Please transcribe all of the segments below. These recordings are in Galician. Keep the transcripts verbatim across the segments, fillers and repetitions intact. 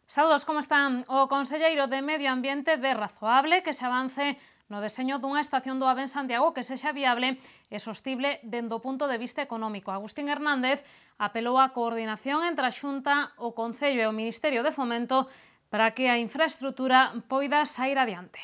Saúdos, como están? O conselleiro de Medio Ambiente ve razoable que se avance no deseño dunha estación do AVE en Santiago que sexa viable e sostible dende o punto de vista económico. Agustín Hernández apelou á coordinación entre a Xunta, o Concello e o Ministerio de Fomento para que a infraestrutura poida sair adiante.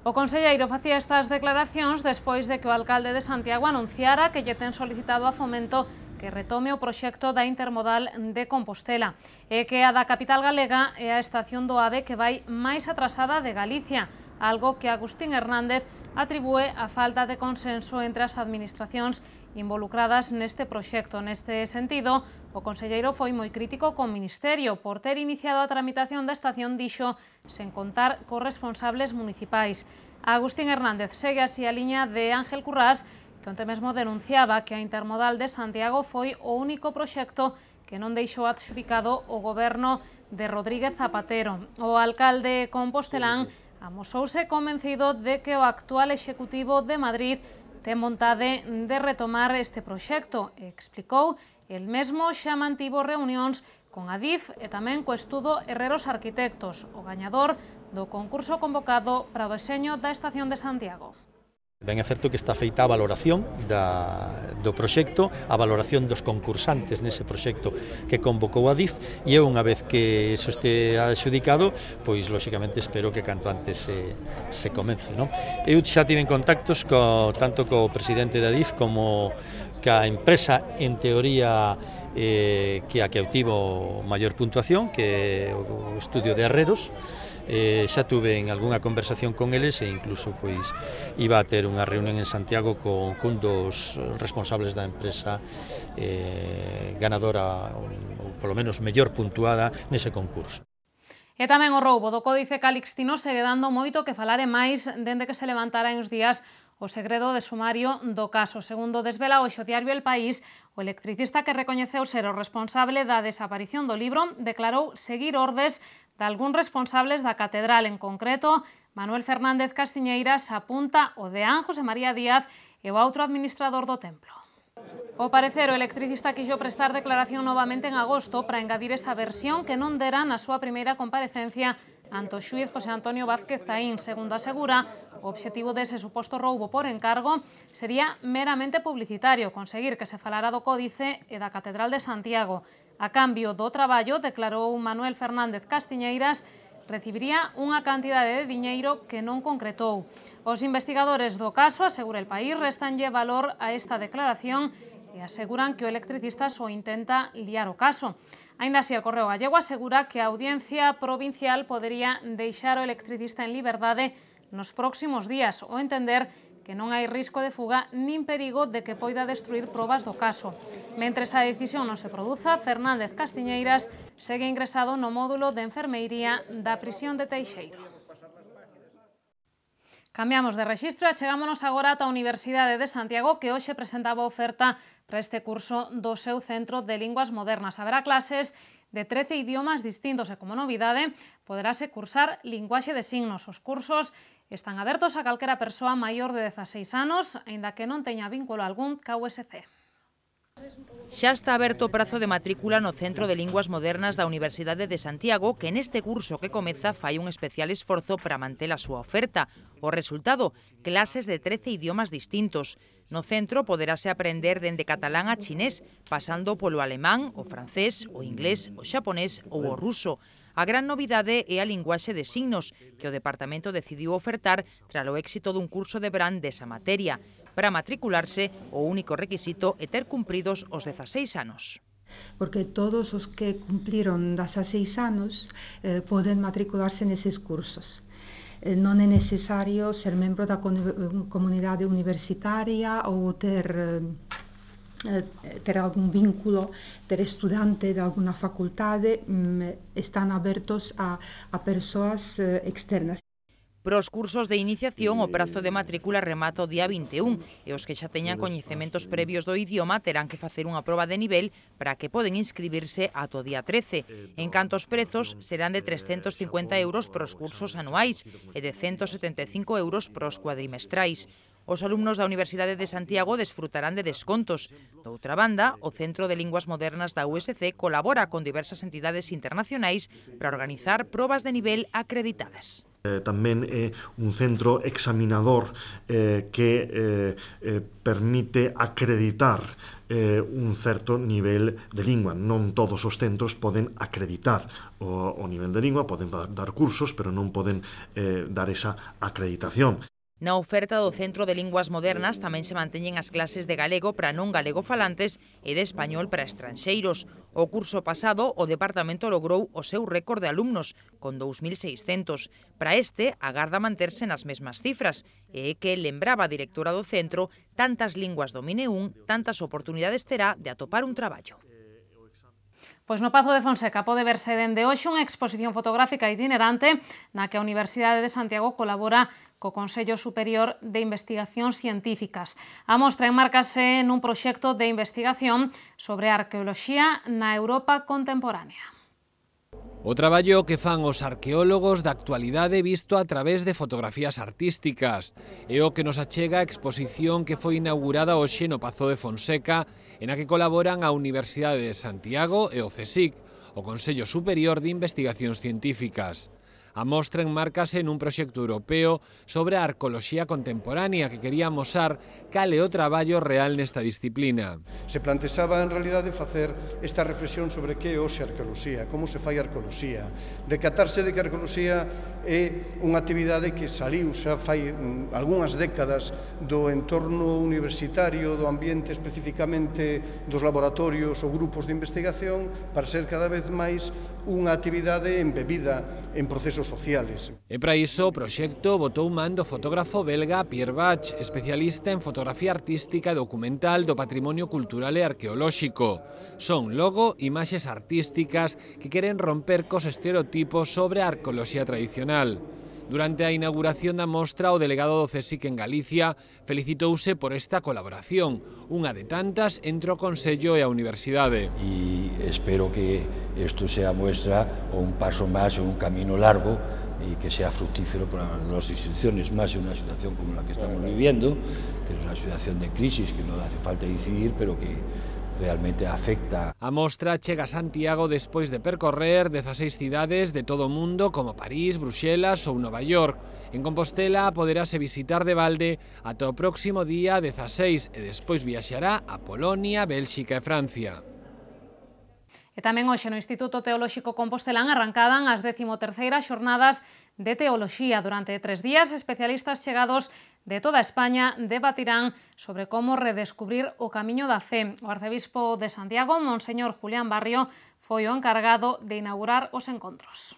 O conselleiro facía estas declaracións despois de que o alcalde de Santiago anunciara que lle ten solicitado a Fomento que retome o proxecto da intermodal de Compostela e que a da capital galega é a estación do AVE que vai máis atrasada de Galicia, algo que Agustín Hernández atribúe á falta de consenso entre as administracións involucradas neste proxecto. Neste sentido, o conselleiro foi moi crítico co Ministerio por ter iniciado a tramitación da estación, dixo, sen contar cos responsables municipais. Agustín Hernández segue así a liña de Ángel Currás, que onte mesmo denunciaba que a intermodal de Santiago foi o único proxecto que non deixou adxudicado o goberno de Rodríguez Zapatero. O alcalde compostelán amosouse convencido de que o actual executivo de Madrid ten vontade de retomar este proxecto e explicou el mesmo xa mantivo reunións con a DIF e tamén co estudo Herreros Arquitectos, o gañador do concurso convocado para o deseño da estación de Santiago. Ben é certo que está feita a valoración da, do proxecto, a valoración dos concursantes nese proxecto que convocou a DIF e unha vez que iso este adxudicado, pois lóxicamente espero que canto antes se, se comence. Non? Eu xa tive contactos co, tanto co presidente da DIF como ca empresa en teoría eh, que a que obtivo maior puntuación, que é o estudio de Herreros. Eh, xa tuve en algunha conversación con eles e incluso pois iba a ter unha reunión en Santiago con, con dos responsables da empresa eh, ganadora ou polo menos mellor puntuada nese concurso. E tamén o roubo do Códice Calixtino segue dando moito que falar e máis dende que se levantara en uns días o segredo de sumario do caso. Segundo desvela o diario El País, o electricista que recoñeceu ser o responsable da desaparición do libro declarou seguir ordes de algúns responsables da catedral. En concreto, Manuel Fernández Castiñeiras apunta o deán José María Díaz e o outro administrador do templo. O parecer, o electricista quixo prestar declaración novamente en agosto para engadir esa versión que non dera na súa primeira comparecencia ante o xuíz José Antonio Vázquez Taín. Segundo asegura, o obxectivo dese suposto roubo por encargo sería meramente publicitario, conseguir que se falara do Códice e da Catedral de Santiago. A cambio do traballo, declarou Manuel Fernández Castiñeiras, recibiría unha cantidade de diñeiro que non concretou. Os investigadores do caso, asegura El País, restanlle valor a esta declaración e aseguran que o electricista só intenta liar o caso. Aínda así, el Correo Gallego asegura que a Audiencia Provincial podería deixar o electricista en liberdade nos próximos días ou entender que non hai risco de fuga nin perigo de que poida destruir probas do caso. Mentres a decisión non se produza, Fernández Castiñeiras segue ingresado no módulo de enfermeiría da prisión de Teixeiro. Cambiamos de rexistro e chegámonos agora ata a Universidade de Santiago, que hoxe presentaba oferta para este curso do seu Centro de Linguas Modernas. Haberá clases de trece idiomas distintos e, como novidade, poderase cursar linguaxe de signos. Os cursos están abertos a calquera persoa maior de dezaseis anos, aínda que non teña vínculo algún ca U S C. Xa está aberto o prazo de matrícula no Centro de Linguas Modernas da Universidade de Santiago, que neste curso que comeza fai un especial esforzo para manter a súa oferta. O resultado, clases de trece idiomas distintos. No centro poderase aprender dende catalán a chinés, pasando polo alemán, o francés, o inglés, o xaponés ou o ruso. A gran novidade é a linguaxe de signos, que o departamento decidiu ofertar tras o éxito dun curso de verán desa materia. Para matricularse, o único requisito é ter cumpridos os dezaseis anos. Porque todos os que cumpliron dezaseis anos eh, poden matricularse neses cursos. Eh, non é necesario ser membro da comunidade universitaria ou ter... Eh, ter algún vínculo, ter estudante de alguna facultade, están abertos a, a persoas eh, externas. Para os cursos de iniciación, o prazo de matrícula remata o día vinte e un e os que xa teñan coñecementos previos do idioma terán que facer unha proba de nivel para que poden inscribirse ata o día trece. En canto aos prezos, serán de trescentos cincuenta euros para os cursos anuais e de ciento setenta e cinco euros para os cuadrimestrais. Os alumnos da Universidade de Santiago desfrutarán de descontos. Doutra banda, o Centro de Linguas Modernas da U S C colabora con diversas entidades internacionais para organizar probas de nivel acreditadas. Eh, tamén é un centro examinador eh, que eh, eh, permite acreditar eh, un certo nivel de lingua. Non todos os centros poden acreditar o, o nivel de lingua, poden dar cursos, pero non poden eh, dar esa acreditación. Na oferta do Centro de Linguas Modernas tamén se manteñen as clases de galego para non galegofalantes e de español para estranxeiros. O curso pasado, o departamento logrou o seu récord de alumnos, con dous mil seiscentos. Para este, agarda manterse nas mesmas cifras, e é que, lembraba a directora do centro, tantas linguas domine un, tantas oportunidades terá de atopar un traballo. Pois no Pazo de Fonseca pode verse dende hoxe unha exposición fotográfica itinerante na que a Universidade de Santiago colabora co Consello Superior de Investigacións Científicas. A mostra enmárcase nun proxecto de investigación sobre a arqueoloxía na Europa contemporánea. O traballo que fan os arqueólogos da actualidade visto a través de fotografías artísticas é o que nos achega a exposición que foi inaugurada hoxe no Pazo de Fonseca, en a que colaboran a Universidade de Santiago e o CSIC, o Consello Superior de Investigacións Científicas. A mostra enmárcase nun proxecto europeo sobre a arqueoloxía contemporánea que quería amosar cal é o traballo real nesta disciplina. Se plantexaba en realidade facer esta reflexión sobre que é hoxe a arqueoloxía, como se fai a arqueoloxía, decatarse de que a arqueoloxía é unha actividade que saliu xa fai algunhas décadas do entorno universitario, do ambiente especificamente dos laboratorios ou grupos de investigación, para ser cada vez máis unha actividade embebida en procesos sociales. E para iso o proxecto botou man do fotógrafo belga Pierre Bach, especialista en fotografía artística e documental do patrimonio cultural e arqueolóxico. Son logo imaxes artísticas que queren romper cos estereotipos sobre a arqueoloxía tradicional. Durante a inauguración da mostra, o delegado do CSIC en Galicia felicitouse por esta colaboración, unha de tantas entre o Consello e a Universidade. E espero que isto sea muestra ou un paso máis en un camino largo e que sea fructífero para as nosas instituciones, máis en unha situación como la que estamos viviendo, que é unha situación de crisis que non hace falta decidir, pero que realmente afecta. A mostra chega a Santiago despois de percorrer dezaseis cidades de todo o mundo como París, Bruxelas ou Nova York. En Compostela poderase visitar de balde ata o próximo día dezaseis e despois viaxará a Polonia, Bélxica e Francia. E tamén hoxe no Instituto Teolóxico Compostelán arrancadan as décimo terceiras xornadas de Teoloxía. Durante tres días, especialistas chegados de toda España debatirán sobre como redescubrir o camiño da fe. O arcebispo de Santiago, Monseñor Julián Barrio, foi o encargado de inaugurar os encontros.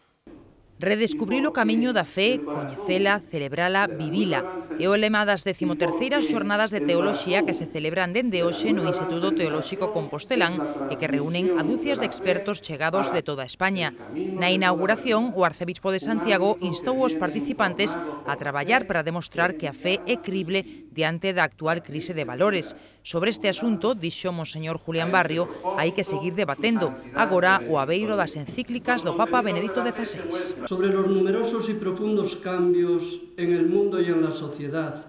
Redescubrir o camiño da fe, coñecela, celebrala, vivila. É o lema das décimo terceiras xornadas de Teoloxía que se celebran dende hoxe no Instituto Teolóxico Compostelán e que reúnen a dúcias de expertos chegados de toda España. Na inauguración, o arcebispo de Santiago instou os participantes a traballar para demostrar que a fe é crible diante da actual crise de valores. Sobre este asunto, dixo Monseñor Julián Barrio, hai que seguir debatendo, agora o abeiro das encíclicas do Papa Benedicto dieciséis. Sobre los numerosos y profundos cambios en el mundo y en la sociedad,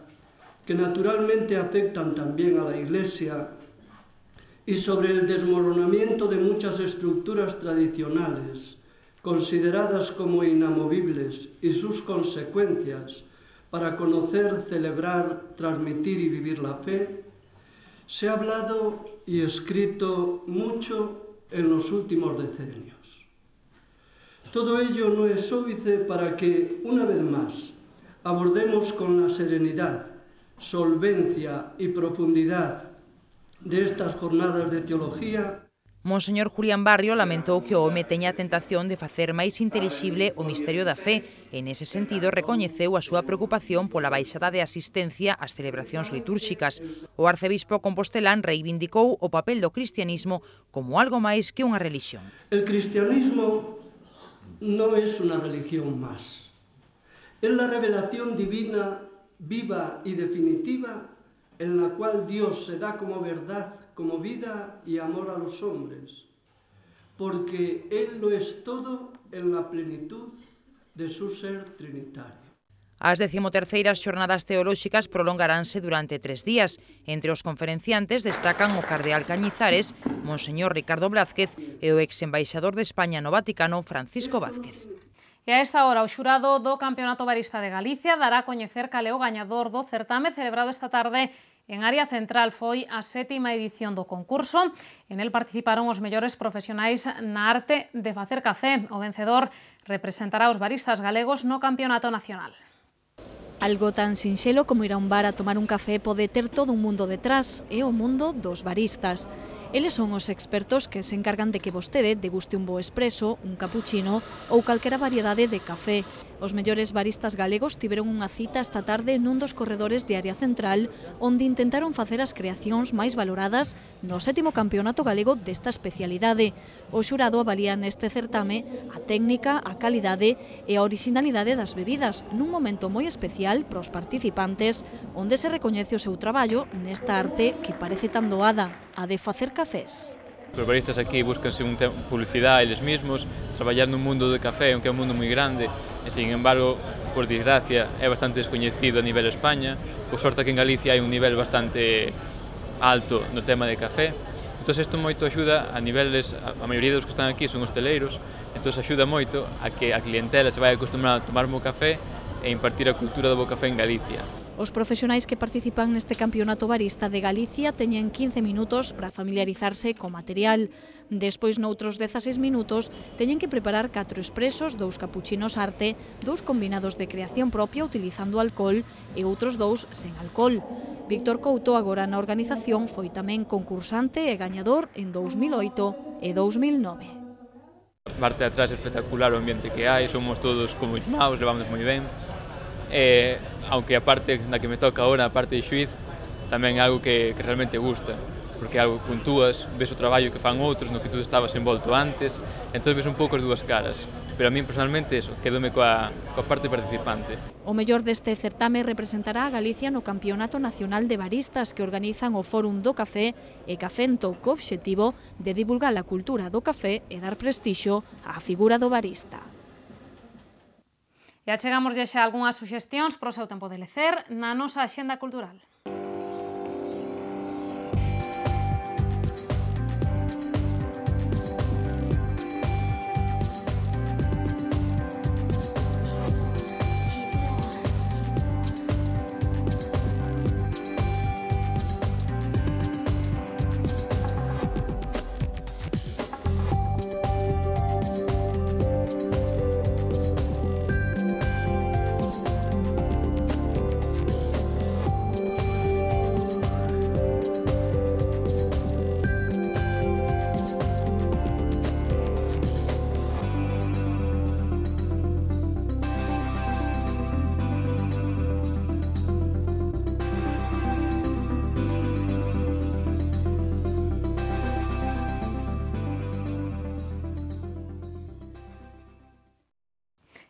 que naturalmente afectan también a la Iglesia, y sobre el desmoronamiento de muchas estructuras tradicionales, consideradas como inamovibles, y sus consecuencias para conocer, celebrar, transmitir y vivir la fe, se ha hablado y escrito mucho en los últimos decenios. Todo ello no es óbice para que, una vez más, abordemos con la serenidad, solvencia y profundidad de estas jornadas de teología. Monseñor Julián Barrio lamentou que o home teña a tentación de facer máis intelixible o misterio da fe e, nese sentido, recoñeceu a súa preocupación pola baixada de asistencia ás celebracións litúrxicas. O arcebispo compostelán reivindicou o papel do cristianismo como algo máis que unha relixión. El cristianismo no es una religión más. Es la revelación divina, viva y definitiva, en la cual Dios se da como verdad, como vida y amor a los hombres, porque Él lo es todo en la plenitud de su ser trinitario. As decimoterceiras xornadas teolóxicas prolongaránse durante tres días. Entre os conferenciantes destacan o cardeal Cañizares, Monseñor Ricardo Blázquez e o ex-embaixador de España no Vaticano, Francisco Vázquez. E a esta hora o xurado do Campeonato Barista de Galicia dará a coñecer cal é o gañador do certame celebrado esta tarde en Área Central. Foi a sétima edición do concurso. En el participaron os mellores profesionais na arte de facer café. O vencedor representará os baristas galegos no Campeonato Nacional. Algo tan sinxelo como ir a un bar a tomar un café pode ter todo un mundo detrás, é o mundo dos baristas. Eles son os expertos que se encargan de que vostede deguste un bo expreso, un cappuccino ou calquera variedade de café. Os mellores baristas galegos tiveron unha cita esta tarde nun dos corredores de Área Central, onde intentaron facer as creacións máis valoradas no sétimo campeonato galego desta especialidade. O xurado avalía neste certame a técnica, a calidade e a orixinalidade das bebidas, nun momento moi especial para os participantes, onde se recoñece o seu traballo nesta arte que parece tan doada, a de facer cafés. Os baristas aquí buscanse un publicidade eles mesmos, traballar nun mundo do café, aunque é un mundo moi grande, e, sin embargo, por desgracia, é bastante descoñecido a nivel España. Por sorte que en Galicia hai un nivel bastante alto no tema de café. Entón, isto moito axuda a niveles, a maioría dos que están aquí son hosteleiros, entón axuda moito a que a clientela se vai acostumar a tomar bo café e impartir a cultura do bo café en Galicia. Os profesionais que participan neste campeonato barista de Galicia teñen quince minutos para familiarizarse co material. Despois, noutros dezaseis minutos, teñen que preparar catro expresos, dous capuchinos arte, dous combinados de creación propia utilizando alcohol e outros dous sen alcohol. Víctor Couto, agora na organización, foi tamén concursante e gañador en dous mil oito e dous mil nove. A parte de atrás é espectacular o ambiente que hai, somos todos como irmãos, levamos moi ben. Eh, aunque a parte na que me toca agora, a parte de xuiz, tamén é algo que, que realmente gusta, porque é algo que puntúas, ves o traballo que fan outros no que tú estabas envolto antes, entón ves un pouco as dúas caras. Pero a min personalmente eso, quedome coa, coa parte participante. O mellor deste certame representará a Galicia no Campeonato Nacional de Baristas que organizan o Fórum do Café e Cafento, co obxectivo de divulgar a cultura do café e dar prestixio á figura do barista. E achegamos xa algunhas suxestións para o seu tempo de lecer na nosa axenda cultural.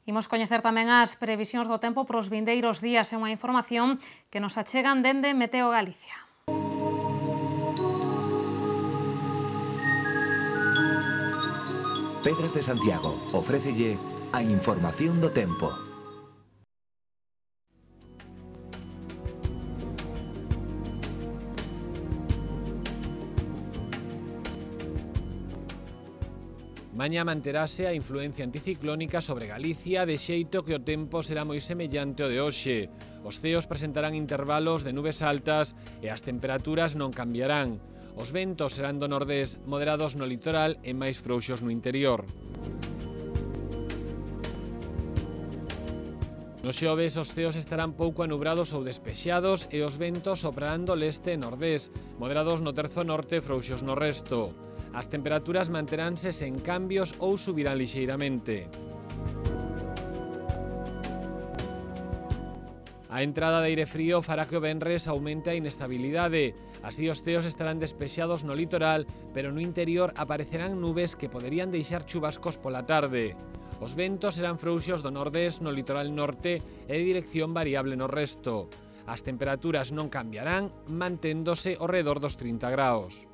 Imos coñecer tamén as previsións do tempo para os vindeiros días e unha información que nos achegan dende Meteo Galicia. Pedras de Santiago ofrécelle a información do tempo. Mañá manterase a influencia anticiclónica sobre Galicia, de xeito que o tempo será moi semellante ao de hoxe. Os ceos presentarán intervalos de nubes altas e as temperaturas non cambiarán. Os ventos serán do nordés moderados no litoral e máis frouxos no interior. No xoves os ceos estarán pouco anubrados ou despexados e os ventos soprarán do leste e nordés, moderados no terzo norte e frouxos no resto. As temperaturas manteránse sen cambios ou subirán lixeiramente. A entrada de aire frío fará que o venres aumente a inestabilidade. Así os ceos estarán despexados no litoral, pero no interior aparecerán nubes que poderían deixar chubascos pola tarde. Os ventos serán frouxos do nordés no litoral norte e de dirección variable no resto. As temperaturas non cambiarán, manténdose ao redor dos trinta graus.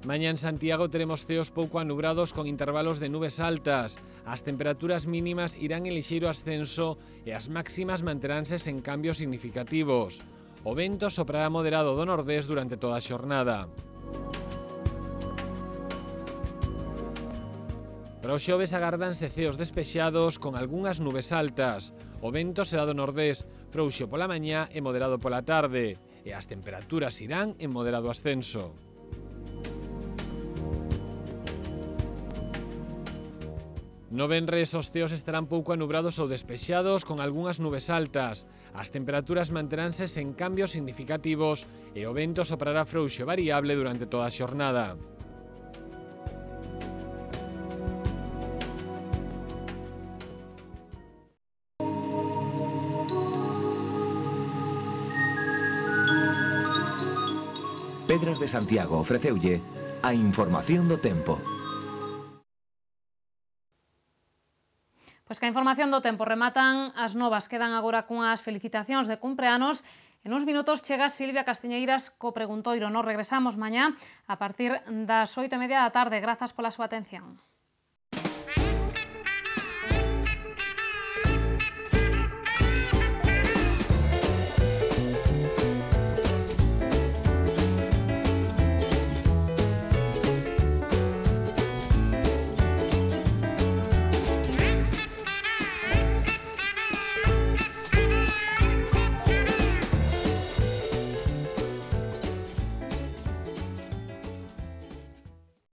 Mañá en Santiago teremos ceos pouco anubrados con intervalos de nubes altas. As temperaturas mínimas irán en lixeiro ascenso e as máximas manteránse sen cambios significativos. O vento soprará moderado do nordés durante toda a xornada. Para o xoves agárdanse ceos despexados con algunhas nubes altas. O vento será do nordés, frouxo pola mañá e moderado pola tarde. E as temperaturas irán en moderado ascenso. No venres os ceos estarán pouco anubrados ou despexados con algunhas nubes altas. As temperaturas manteránse sen cambios significativos e o vento soprará frouxo variable durante toda a xornada. Pedras de Santiago ofreceulle a información do tempo. Pois que a información do tempo rematan as novas, quedan agora cunhas felicitacións de cumpleanos. En uns minutos chega Silvia Castiñeiras co preguntoiro. Nos regresamos mañá a partir das oito e media da tarde. Grazas pola súa atención.